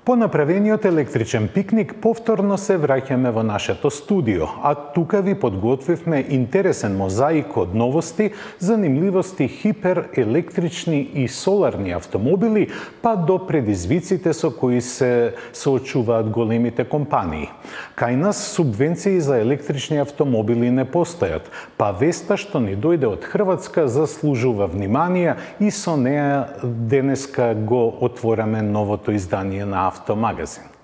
По направениот електричен пикник повторно се враќаме во нашето студио, а тука ви подготвивме интересен мозаик од новости, занимливости хиперелектрични и соларни автомобили, па до предизвиците со кои се соочуваат големите компании. Кај нас субвенции за електрични автомобили не постојат, па веста што ни дојде од Хрватска заслужува внимание и со неа денеска го отвораме новото издание на Автомагазин.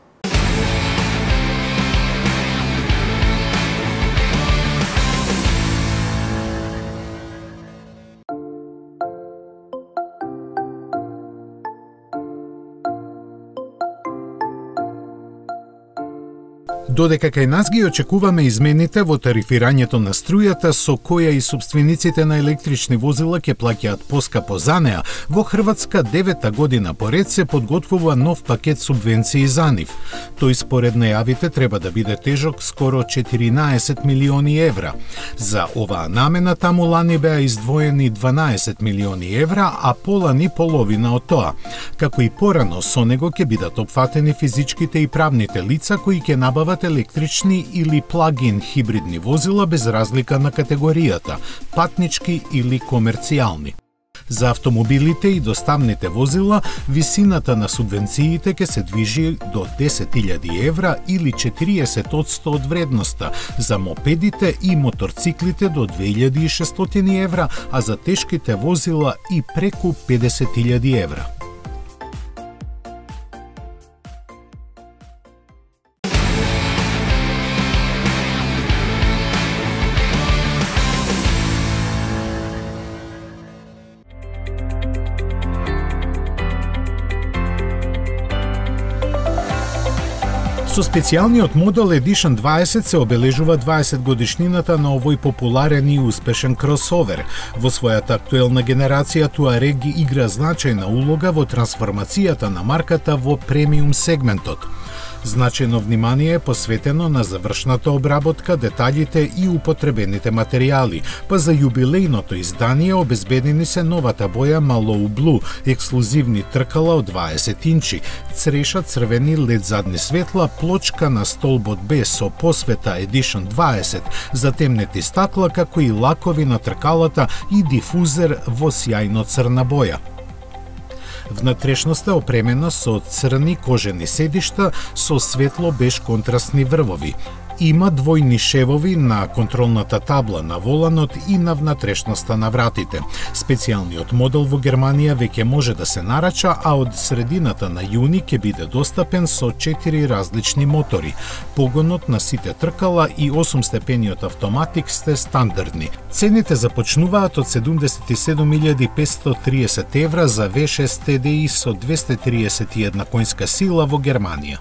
Додека кај нас ги очекуваме измените во тарифирањето на струјата, со која и собствениците на електрични возила ќе плаќаат поскапо за неа, во Хрватска 9-та година поред се подготвува нов пакет субвенции за нив. Тој според најавите треба да биде тежок скоро 14 милиони евра. За оваа намена таму лани беа издвоени 12 милиони евра, а полани половина од тоа. Како и порано, со него ќе бидат опфатени физичките и правните лица кои ќе набават електрични или плагин хибридни возила без разлика на категоријата, патнички или комерцијални. За автомобилите и доставните возила, висината на субвенциите ќе се движи до 10.000 евра или 40% од вредноста, за мопедите и моторциклите до 2.600 евра, а за тешките возила и преку 50.000 евра. Со специјалниот модел Edition 20 се обележува 20 годишнината на овој популарен и успешен кросовер. Во својата актуелна генерација Touareg игра значајна улога во трансформацијата на марката во премиум сегментот. Значајно внимание е посветено на завршната обработка, деталите и употребените материјали, па за јубилејното издание обезбедени се новата боја Mallow Blue, ексклузивни тркала од 20 инчи, цреша црвени лед задни светла, плочка на столбот Б со посвета Edition 20, затемнети стакла, како и лакови на тркалата и дифузер во сјајно црна боја. Внатрешноста опремена со црни кожени седишта со светло беж контрастни врвови. Има двојни шевови на контролната табла на воланот и на внатрешноста на вратите. Специјалниот модел во Германија веќе може да се нарача, а од средината на јуни ќе биде достапен со 4 различни мотори. Погонот на сите тркала и 8-степениот автоматик сте стандардни. Цените започнуваат од 77.530 евра за V6 TDI со 231 коњска сила во Германија.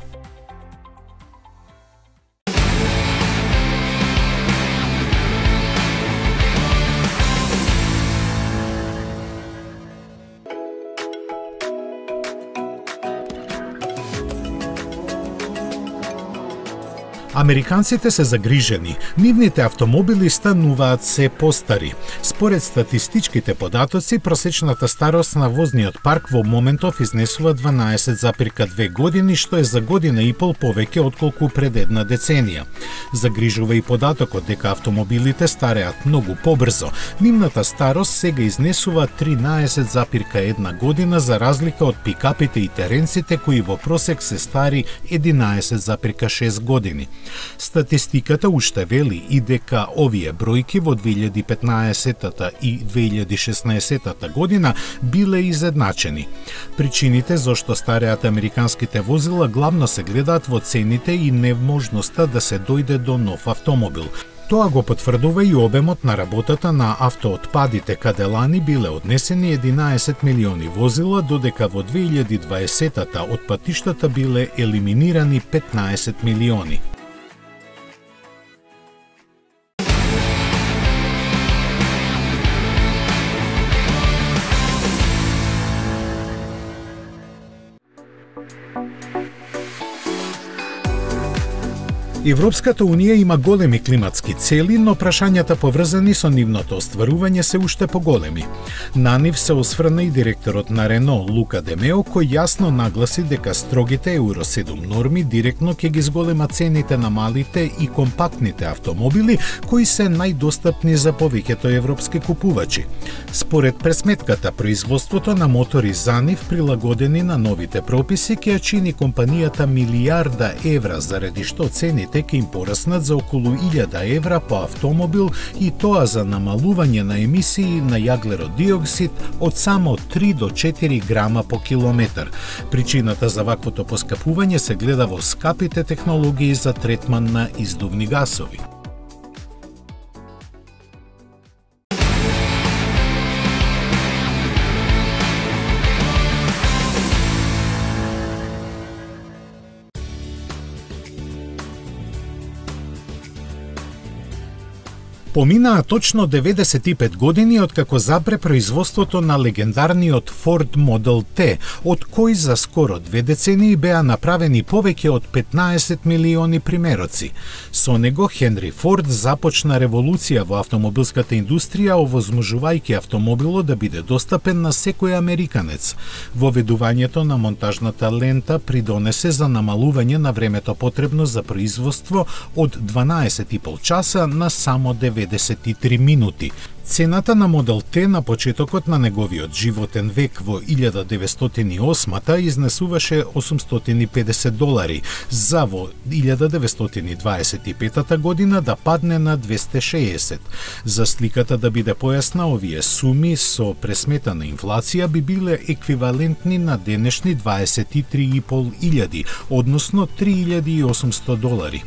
Американците се загрижени. Нивните автомобили стануваат се постари. Според статистичките податоци, просечната старост на возниот парк во моментов изнесува 12,2 години, што е за година и пол повеќе отколку пред една деценија. Загрижува и податокот дека автомобилите стареат многу побрзо. Нивната старост сега изнесува 13,1 година за разлика од пикапите и теренците кои во просек се стари 11,6 години. Статистиката уште вели и дека овие бројки во 2015 и 2016 година биле изедначени. Причините зошто стареат американските возила главно се гледаат во цените и невможноста да се дојде до нов автомобил. Тоа го потврдува и обемот на работата на автоотпадите, каде лани биле однесени 11 милиони возила, додека во 2020 од патиштата биле елиминирани 15 милиони. Европската Унија има големи климатски цели, но прашањата поврзани со нивното остварување се уште поголеми. На нив се осврна и директорот на Рено, Лука Де Мео, кој јасно нагласи дека строгите Евро 7 норми директно ќе ги зголема цените на малите и компактните автомобили, кои се најдостапни за повеќето европски купувачи. Според пресметката, производството на мотори за нив, прилагодени на новите прописи, ќе чини компанијата милијарда евра, заради што цените ќе им пораснат за околу 1000 евра по автомобил, и тоа за намалување на емисии на јаглеродиоксид од само 3 до 4 грама по километар. Причината за ваквото поскапување се гледа во скапите технологии за третман на издувни гасови. Поминаа точно 95 години откако запре производството на легендарниот Ford Model T, од кој за скоро 2 децении беа направени повеќе од 15 милиони примероци. Со него Хенри Форд започна револуција во автомобилската индустрија, овозможувајќи автомобилот да биде достапен на секој американец. Воведувањето на монтажната лента придонесе за намалување на времето потребно за производство од 12,5 часа на само 93 минути. Цената на Модел Т на почетокот на неговиот животен век во 1908 изнесуваше $850, за во 1925 година да падне на 260. За сликата да биде појасна, овие суми со пресметана инфлација би биле еквивалентни на денешни 23.500, односно $3.800.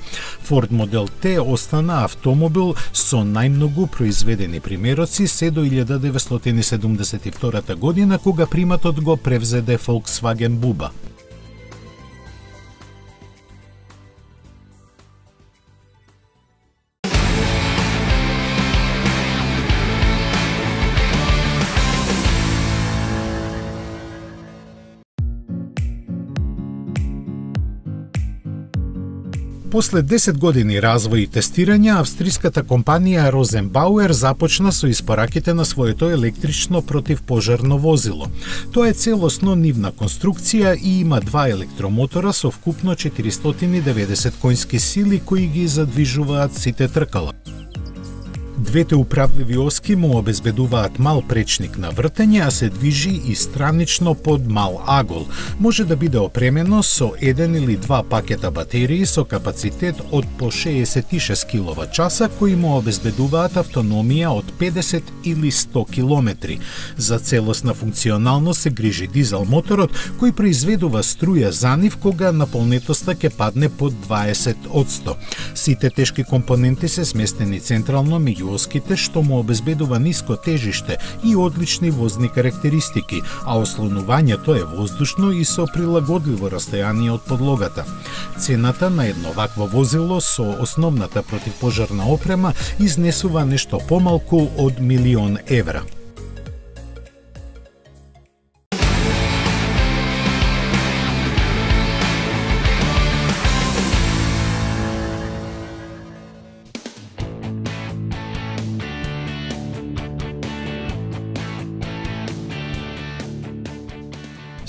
Ford Model T остана автомобил со најмногу произведени примероци се до 1972 година, кога приматот го превзеде Volkswagen Буба. После 10 години развој и тестирање, австриската компанија Розенбауер започна со испораките на своето електрично противпожарно возило. Тоа е целосно нивна конструкција и има 2 електромотора со вкупно 490 конски сили кои ги задвижуваат сите тркала. Двете управливи оски му обезбедуваат мал пречник на вртење, а се движи и странично под мал агол. Може да биде опремено со 1 или 2 пакета батерии со капацитет од по 66 киловат-часа, кои му обезбедуваат автономија од 50 или 100 километри. За целосна функционалност се грижи дизел моторот, кој произведува струја за нив кога наполнетоста ќе падне под 20%. Сите тешки компоненти се сместени централно меѓу оските, што му обезбедува ниско тежиште и одлични возни карактеристики, а ослонувањето е воздушно и со прилагодливо растојание од подлогата. Цената на едно вакво возило со основната противпожарна опрема изнесува нешто помалку од 1.000.000 евра.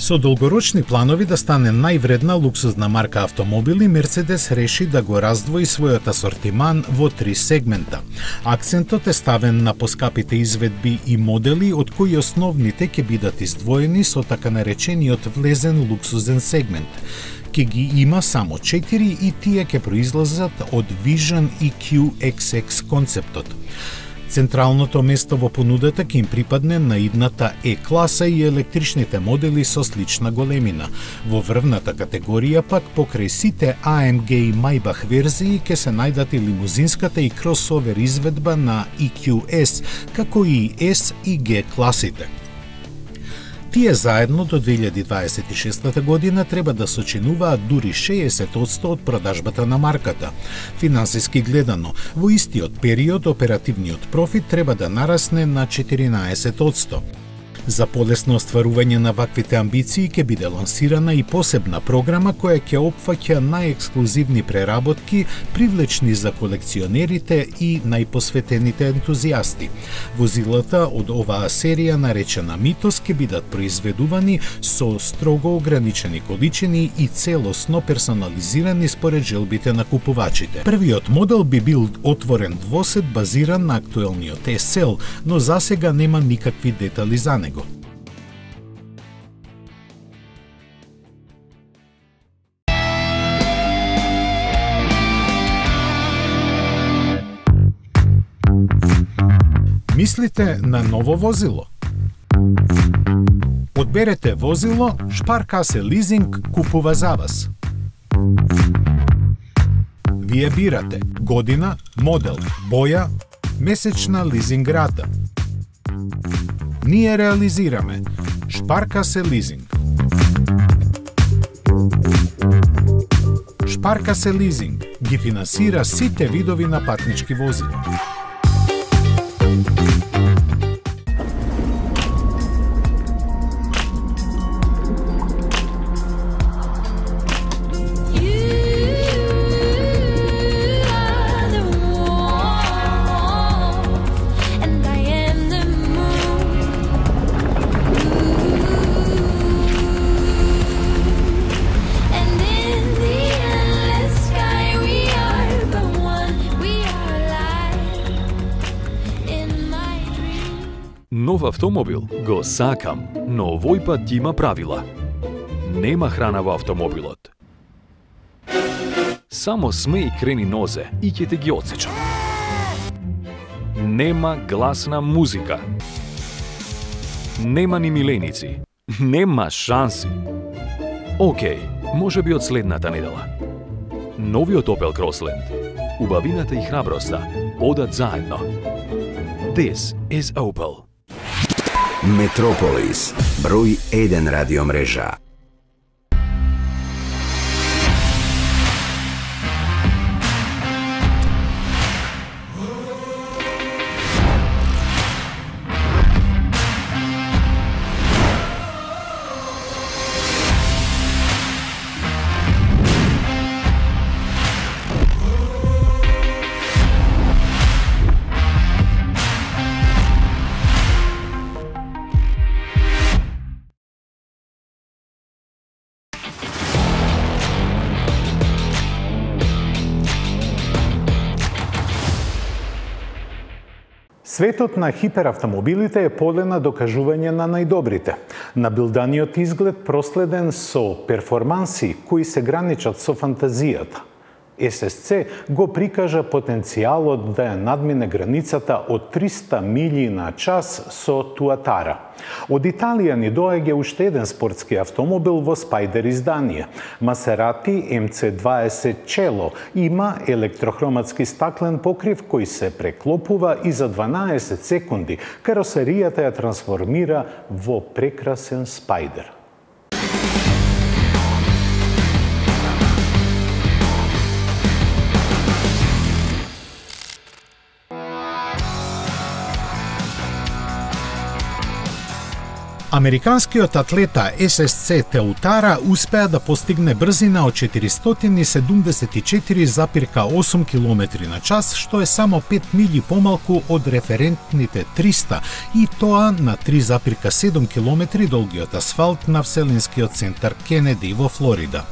Со долгорочни планови да стане највредна луксузна марка автомобили, Мерцедес реши да го раздвои својот асортиман во 3 сегмента. Акцентот е ставен на поскапите изведби и модели, од кои основните ќе бидат издвоени со така наречениот влезен луксузен сегмент. Ке ги има само 4 и тие ќе произлезат од Vision и QXX концептот. Централното место во понудата ќе им припадне на идната Е-класа и електричните модели со слична големина. Во врвната категорија пак покрај сите AMG и Maybach верзии ќе се најдат и лимузинската и кросовер изведба на EQS, како и S и G класите. Тие заедно до 2026 година треба да сочинуваат дури 60% од продажбата на марката. Финансиски гледано, во истиот период оперативниот профит треба да нарасне на 14%. За полесно остварување на ваквите амбиции ќе биде лансирана и посебна програма која ќе опфаќа најексклузивни преработки, привлечни за колекционерите и најпосветените ентузијасти. Возилата од оваа серија, наречена Митос, ќе бидат произведувани со строго ограничени количини и целосно персонализирани според желбите на купувачите. Првиот модел би бил отворен двосет базиран на актуелниот SL, но засега нема никакви детали за него. Мислите на ново возило? Одберете возило, Шпаркасе лизинг купува за вас. Вие бирате година, модел, боја, месечна лизинг рата. Ние реализираме Шпаркасе лизинг. Шпаркасе лизинг ги финансира сите видови на патнички возила. Нов автомобил го сакам, но овој пат има правила. Нема храна во автомобилот. Само смеј крени нозе и ќе те ги отсечам. Нема гласна музика. Нема ни миленици. Нема шанси. Океј, може би од следната недела. Новиот Opel Crossland. Убавината и храброста одат заедно. This is Opel. Метрополис, број 1 радиомрежа. Светот на хиперавтомобилите е поле на докажување на најдобрите. Набилданиот изглед проследен со перформанси кои се граничат со фантазијата. ССЦ го прикажа потенцијалот да ја надмине границата од 300 милји на час со Туатара. Од Италија ни доаѓа уште еден спортски автомобил во Спајдер издание. Масерати MC20 Cello има електрохроматски стаклен покрив кој се преклопува и за 12 секунди каросеријата ја трансформира во прекрасен Спајдер. Американскиот атлета ССЦ Теутара успеа да постигне брзина од 474,8 км на час, што е само 5 милји помалку од референтните 300, и тоа на 3,7 км долгиот асфалт на Вселенскиот центар Кенеди во Флорида.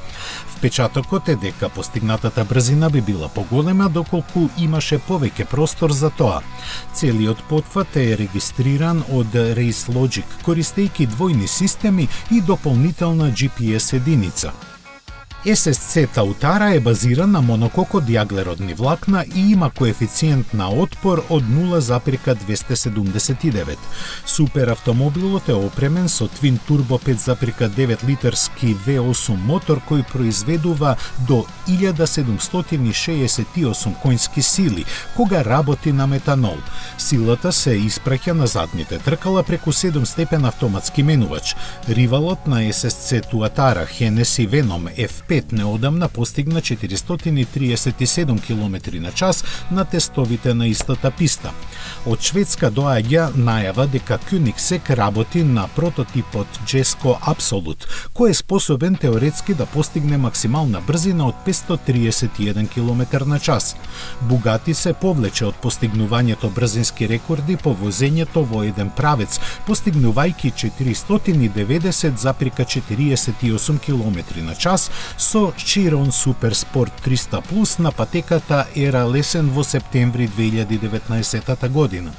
Впечатокот е дека постигнатата брзина би била поголема доколку имаше повеќе простор за тоа. Целиот потфат е регистриран од RaceLogic, користејќи двојни системи и дополнителна GPS единица. ССЦ Таутара е базиран на монококот јаглеродни влакна и има коефициент на отпор од 0,279. Суперавтомобилот е опремен со твин турбо 5,9 литерски V8 мотор кој произведува до 1768 коњски сили, кога работи на метанол. Силата се испраќа на задните тркала преку 7-степен автоматски менувач. Ривалот на ССЦ Туатара, Hennessy Venom F5, 5 неодамна постигна 437 км на час на тестовите на истата писта. Од Шведска доаѓа најава дека Koenigsegg работи на прототипот Jesko Absolut, кој е способен теоретски да постигне максимална брзина од 531 км на час. Bugatti се повлече од постигнувањето брзински рекорди по возењето во еден правец, постигнувајќи 490,48 км на час со Chiron Super Sport 300 Plus на патеката Ера Лесен во септември 2019 година.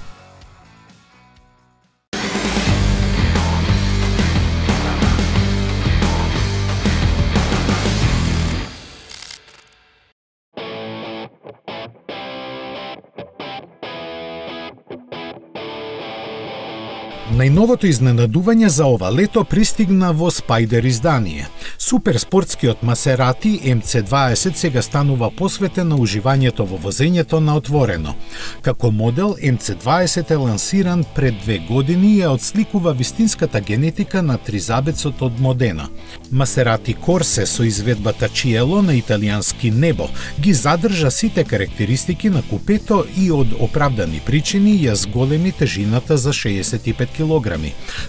Најновото изненадување за ова лето пристигна во Spider издание. Суперспортскиот Масерати MC20 сега станува посветен на уживањето во возењето на отворено. Како модел, MC20 е лансиран пред 2 години и ја отсликува вистинската генетика на тризабецот од Модена. Масерати Корсе со изведбата Cielo на италијански небо ги задржа сите карактеристики на купето и од оправдани причини ја зголеми тежината за 65 кг.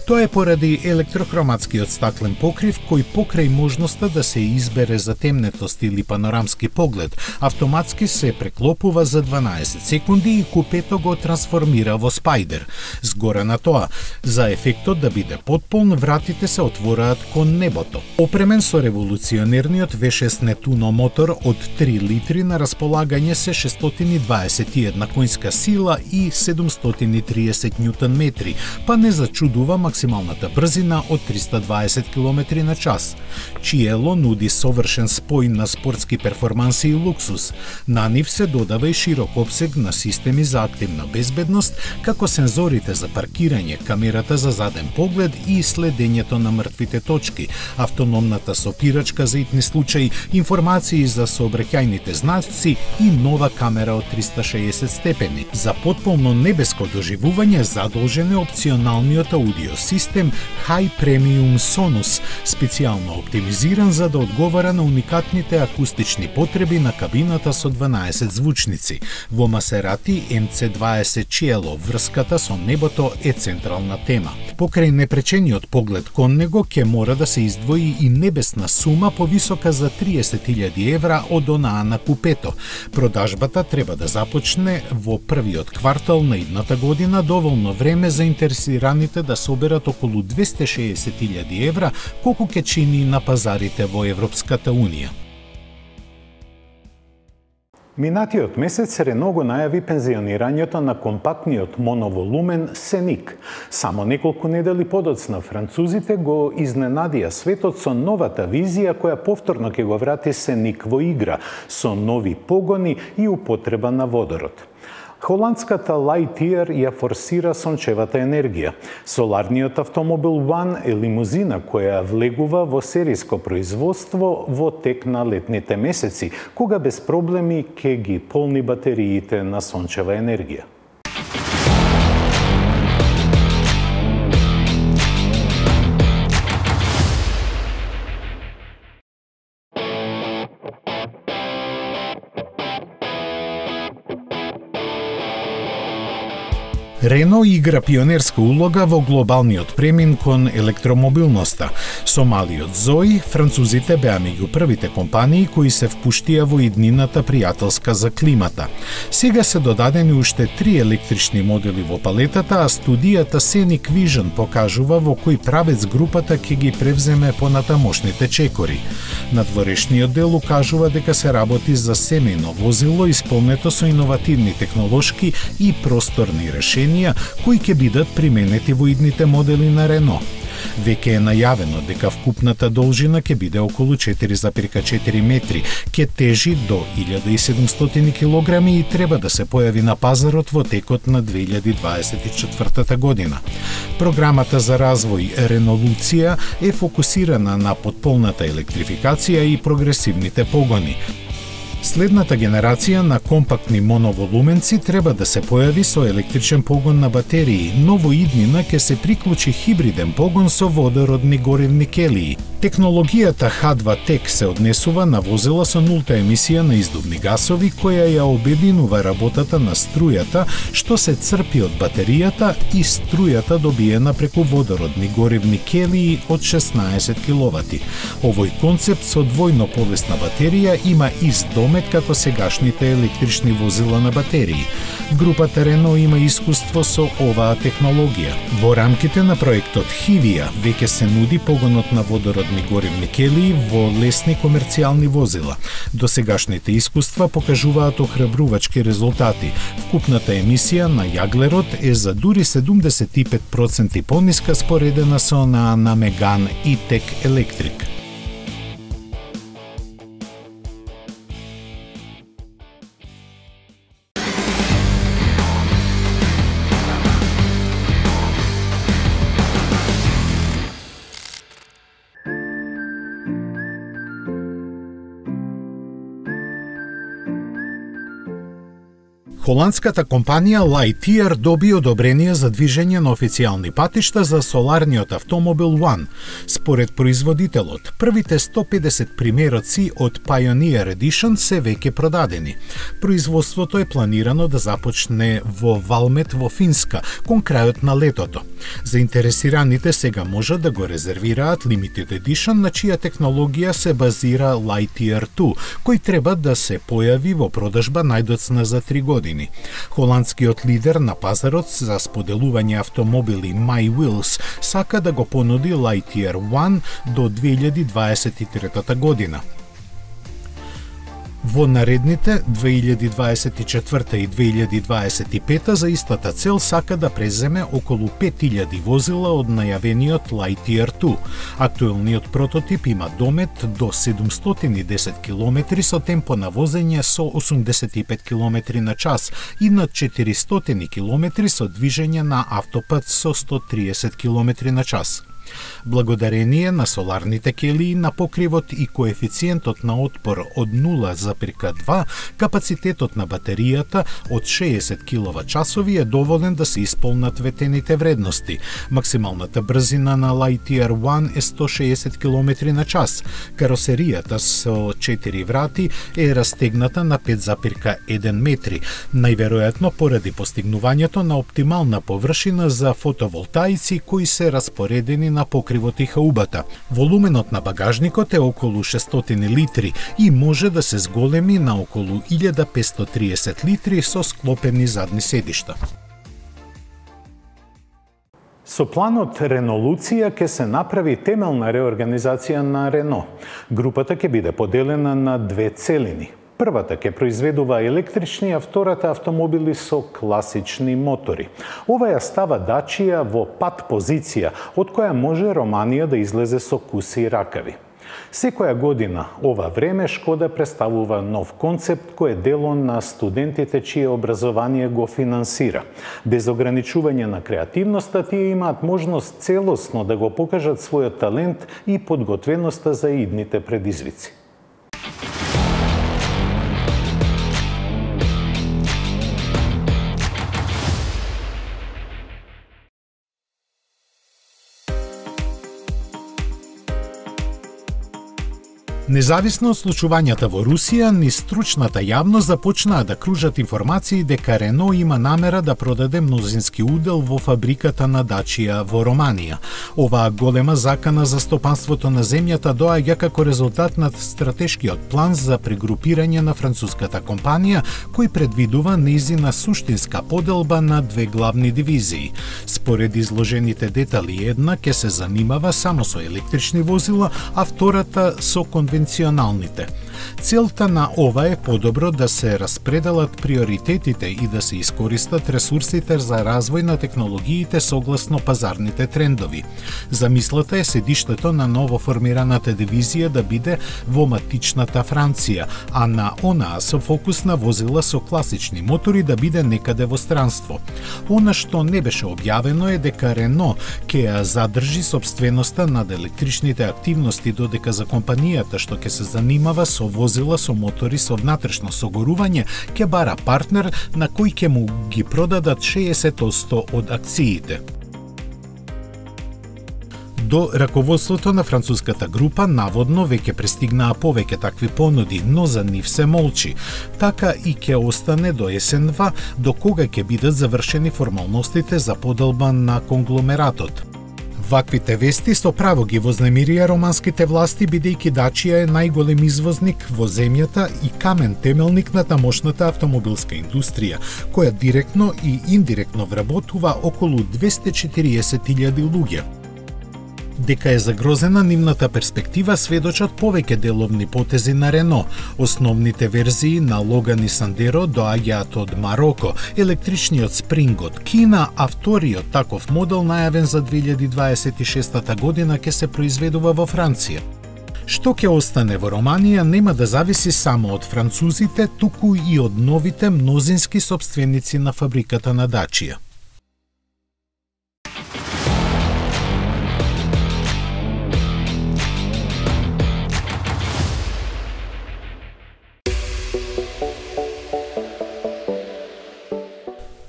Тоа е поради електрохроматскиот стаклен покрив кој покрај можноста да се избере за темнетост или панорамски поглед, автоматски се преклопува за 12 секунди и купето го трансформира во Spider. Згора на тоа, за ефектот да биде потполн, вратите се отвораат кон небото. Опремен со револуционерниот V6 Nettuno мотор од 3 литри на располагање се 621 коњска сила и 730 Нм, па не зачудува максималната брзина од 320 км на час. Cielo нуди совршен спој на спортски перформанси и луксус. На нив се додава и широк опсег на системи за активна безбедност, како сензорите за паркирање, камерата за заден поглед и следењето на мртвите точки, автономната сопирачка за итни случаи, информации за сообраќајните знаци и нова камера од 360 степени. За потполно небеско доживување задолжен е опционалниот аудио систем High Premium Sonus, специјално оптимизиран за да одговара на уникатните акустични потреби на кабината со 12 звучници. Во Масерати MC20 Cielo врската со небото е централна тема. Покрај непречениот поглед кон него ќе мора да се издвои и небесна сума повисока за 30.000 евра од онаа на купето. Продажбата треба да започне во првиот квартал на идната година, доволно време за интересираните да соберат околу 260.000 евра, колку ќе чини на пазарите во Европската Унија. Минатиот месец Рено го најави пензионирањето на компактниот моноволумен Сеник. Само неколку недели подоцна французите го изненадија светот со новата визија која повторно ќе го врати Сеник во игра, со нови погони и употреба на водород. Холандската Lightyear ја форсира сончевата енергија. Соларниот автомобил One е лимузина која влегува во сериско производство во тек на летните месеци, кога без проблеми ќе ги полни батериите на сончева енергија. Рено игра пионерска улога во глобалниот премин кон електромобилноста. Со малиот Zoe, французите беа меѓу првите компании кои се впуштија во иднината пријателска за климата. Сега се додадени уште 3 електрични модели во палетата, а студијата Scenic Vision покажува во кој правец групата ќе ги превземе понатамошните чекори. Надворешниот дел укажува дека се работи за семејно возило исполнето со иновативни технолошки и просторни решенија кои ќе бидат применети во идните модели на Рено. Веќе е најавено дека вкупната должина ќе биде околу 4,4 метри, ќе тежи до 1700 килограми и треба да се појави на пазарот во текот на 2024 година. Програмата за развој Ренолуција е фокусирана на потполната електрификација и прогресивните погони. Следната генерација на компактни моноволуменци треба да се појави со електричен погон на батерии, но во иднина ќе се приклучи хибриден погон со водородни горивни келии. Технологијата H2Tech се однесува на возила со нулта емисија на издувни гасови, која ја обединува работата на струјата, што се црпи од батеријата и струјата добиена преку водородни горивни келии од 16 киловати. Овој концепт со двојно повесна батерија има ист домет како сегашните електрични возила на батерии. Групата Рено има искуство со оваа технологија. Во рамките на проектот Хивија веќе се нуди погонот на водородни горивни келии во лесни комерцијални возила. Досегашните искуства покажуваат охрабрувачки резултати. Вкупната емисија на јаглерод е за дури 75% пониска споредена со онаа на Меган E-Tech Electric. Холандската компанија Lightyear доби одобрение за движење на официјални патишта за соларниот автомобил One. Според производителот, првите 150 примероци од Pioneer Edition се веќе продадени. Производството е планирано да започне во Valmet во Финска, кон крајот на летото. Заинтересираните сега можат да го резервираат Limited Edition, на чија технологија се базира Lightyear 2, кој треба да се појави во продажба најдоцна за 3 години. Холандскиот лидер на пазарот за споделување автомобили MyWheels сака да го понуди Lightyear One до 2023 година. Во наредните 2024 и 2025 за истата цел сака да преземе околу 5000 возила од најавениот Lightyear 2. Актуелниот прототип има домет до 710 км со темпо на возење со 85 км на час и над 400 км со движење на автопат со 130 км на час. Благодарение на соларните келии на покривот и коефициентот на отпор од 0,2, капацитетот на батеријата од 60 киловат-часови е доволен да се исполнат ветените вредности. Максималната брзина на Lightyear One е 160 км на час. Каросеријата со 4 врати е растегната на 5,1 метри, најверојатно поради постигнувањето на оптимална површина за фотоволтаици кои се распоредени на покривот и хаубата. Волуменот на багажникот е околу 600 литри и може да се зголеми на околу 1530 литри со склопени задни седишта. Со планот Ренолуција ќе се направи темелна реорганизација на Рено. Групата ќе биде поделена на две целини. Првата ќе произведува електрични, а втората автомобили со класични мотори. Ова ја става Дачија во пат позиција, од која може Романија да излезе со куси ракави. Секоја година, ова време, Шкода представува нов концепт кој е дело на студентите чие образование го финансира. Без ограничување на креативноста, тие имаат можност целосно да го покажат својот талент и подготвеноста за идните предизвици. Независно од случувањата во Русија, низ стручната јавност започнаа да кружат информации дека Рено има намера да продаде мнозински удел во фабриката на Дачија во Романија. Оваа голема закана за стопанството на земјата доаѓа како резултат на стратешкиот план за прегрупирање на француската компанија, кој предвидува нејзина суштинска поделба на две главни дивизии. Според изложените детали, една ќе се занимава само со електрични возила, а втората со конвенционалните. Целта на ова е подобро да се распределат приоритетите и да се искористат ресурсите за развој на технологиите согласно пазарните трендови. Замислата е седиштето на новоформираната дивизија да биде во матичната Франција, а на онаа со фокус на возила со класични мотори да биде некаде во странство. Она што не беше објавено е дека Рено ќе ја задржи сопственоста над електричните активности, додека за компанијата што ќе се занимава со возила со мотори со внатрешно согорување ќе бара партнер на кој ќе му ги продадат 60% од акциите. До раководството на француската група наводно веќе пристигнаа повеќе такви понуди, но за нив се молчи. Така и ќе остане до есенва, до кога ќе бидат завршени формалностите за поделба на конгломератот. Ваквите вести со право ги вознемирија романските власти, бидејќи Дачија е најголем извозник во земјата и камен темелник на тамошната автомобилска индустрија, која директно и индиректно вработува околу 240.000 луѓе. Дека е загрозена нивната перспектива сведочат повеќе деловни потези на Рено. Основните верзии на Логан и Сандеро доаѓаат од Мароко, електричниот Спринг од Кина, а вториот таков модел најавен за 2026 година ќе се произведува во Франција. Што ќе остане во Романија нема да зависи само од французите, туку и од новите мнозински сопственици на фабриката на Дачија.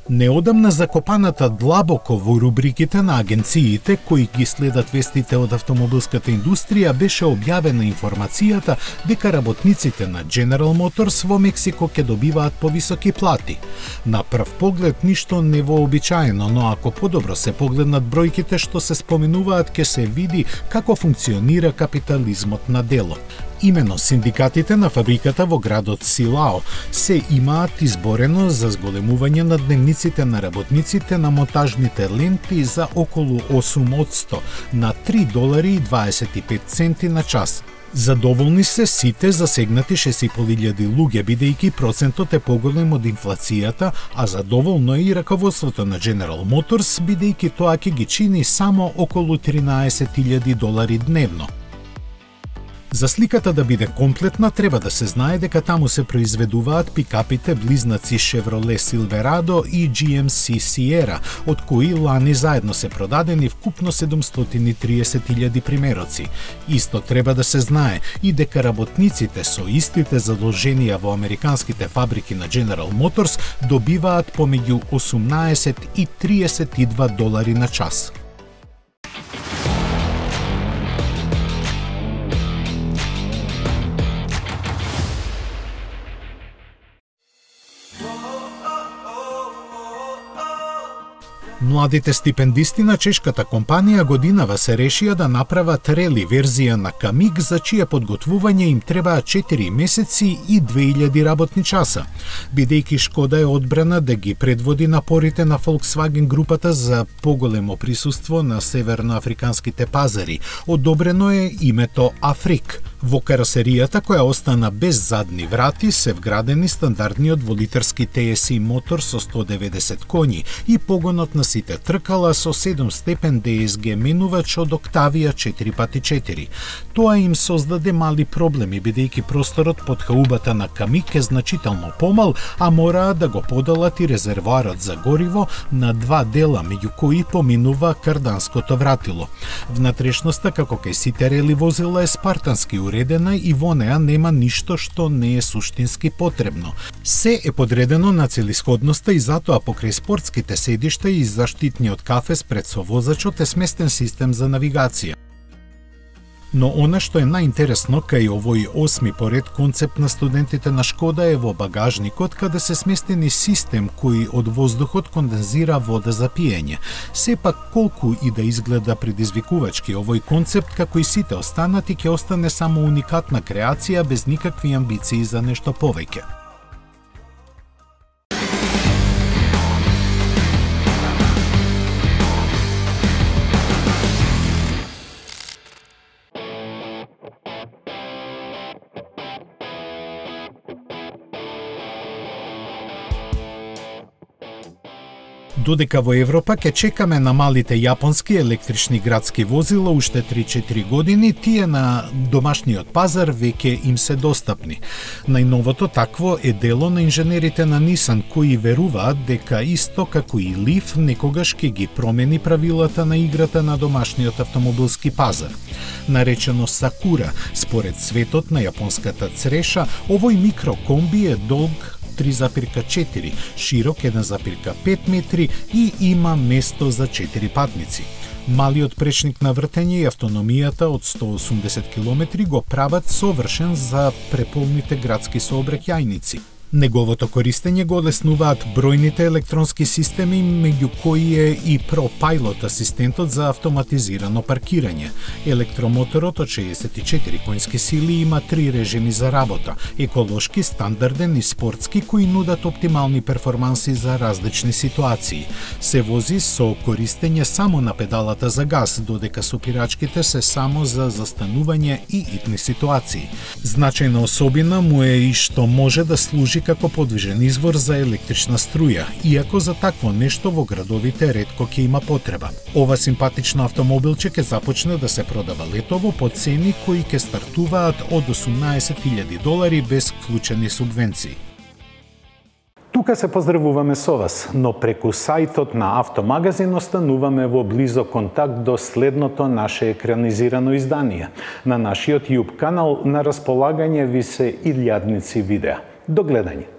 Неодамна закопаната длабоко во рубриките на агенциите кои ги следат вестите од автомобилската индустрија беше објавена информацијата дека работниците на General Motors во Мексико ќе добиваат повисоки плати. На прв поглед ништо невообичаено, но ако подобро се погледнат бројките што се споменуваат, ќе се види како функционира капитализмот на дело. Имено синдикатите на фабриката во градот Силао се имаат изборено за зголемување на дневниците на работниците на монтажните ленти за околу 8% на $3.25 на час. Задоволни се сите засегнати 6.500 луѓе, бидејќи процентот е поголем од инфлацијата, а задоволно е и раководството на General Motors, бидејќи тоа ќе ги чини само околу $13.000 дневно. За сликата да биде комплетна, треба да се знае дека таму се произведуваат пикапите близнаци Chevrolet Silverado и GMC Sierra, од кои лани заедно се продадени вкупно 730.000 примероци. Исто треба да се знае и дека работниците со истите задолженија во американските фабрики на General Motors добиваат помеѓу $18 и $32 на час. Младите стипендисти на чешката компанија годинава се решија да направат рели верзија на Камиг, за чие подготвување им требаа 4 месеци и 2000 работни часа. Бидејќи Шкода е одбрана да ги предводи напорите на Volkswagen групата за поголемо присуство на северноафриканските пазари, одобрено е името Африк. Во каросеријата, која остана без задни врати, се вградени стандардниот дволитерски TSI мотор со 190 коњи и погонот на сите тркала со 7-степен DSG менувач од Octavia 4x4. Тоа им создаде мали проблеми, бидејќи просторот под хаубата на Камиг е значително помал, а мораа да го поделат и резервоарот за гориво на два дела, меѓу кои поминува карданското вратило. Внатрешноста, како кај сите рели возила, е спартански уредена и во неа нема ништо што не е суштински потребно. Се е подредено на целисходноста и затоа покрај спортските седишта и заштитниот кафес пред со возачот е сместен систем за навигација. Но она што е најинтересно кај овој 8ми поред концепт на студентите на Шкода е во багажникот, каде се сместени систем кој од воздухот кондензира вода за пиење. Сепак колку и да изгледа предизвикувачки овој концепт, како и сите останати, ќе остане само уникатна креација без никакви амбиции за нешто повеќе. Додека во Европа ќе чекаме на малите јапонски електрични градски возила уште 3-4 години, тие на домашниот пазар веќе им се достапни. Најновото такво е дело на инженерите на Nissan, кои веруваат дека исто како и Leaf некогаш ќе ги промени правилата на играта на домашниот автомобилски пазар. Наречено Sakura, според светот на јапонската цреша, овој микрокомби е долг 3,4, широк 1,5 метри и има место за 4 патници. Малиот пречник на вртење и автономијата од 180 км го прават совршен за преполните градски сообраќајници. Неговото користење го олеснуваат бројните електронски системи, меѓу кои е и ProPilot асистентот за автоматизирано паркирање. Електромоторот од 64 конски сили има 3 режими за работа: еколошки, стандарден и спортски, кои нудат оптимални перформанси за различни ситуации. Се вози со користење само на педалата за газ, додека сопирачките се само за застанување и итни ситуации. Значајна особина му е и што може да служи како подвижен извор за електрична струја, иако за такво нешто во градовите ретко ќе има потреба. Ова симпатично автомобилче ќе започне да се продава летово по цени кои ќе стартуваат од $18,000 без вклучени субвенции. Тука се поздравуваме со вас, но преку сајтот на Автомагазин остануваме во близок контакт до следното наше екранизирано издание. На нашиот YouTube канал на располагање ви се илјадници видеа. До гледање!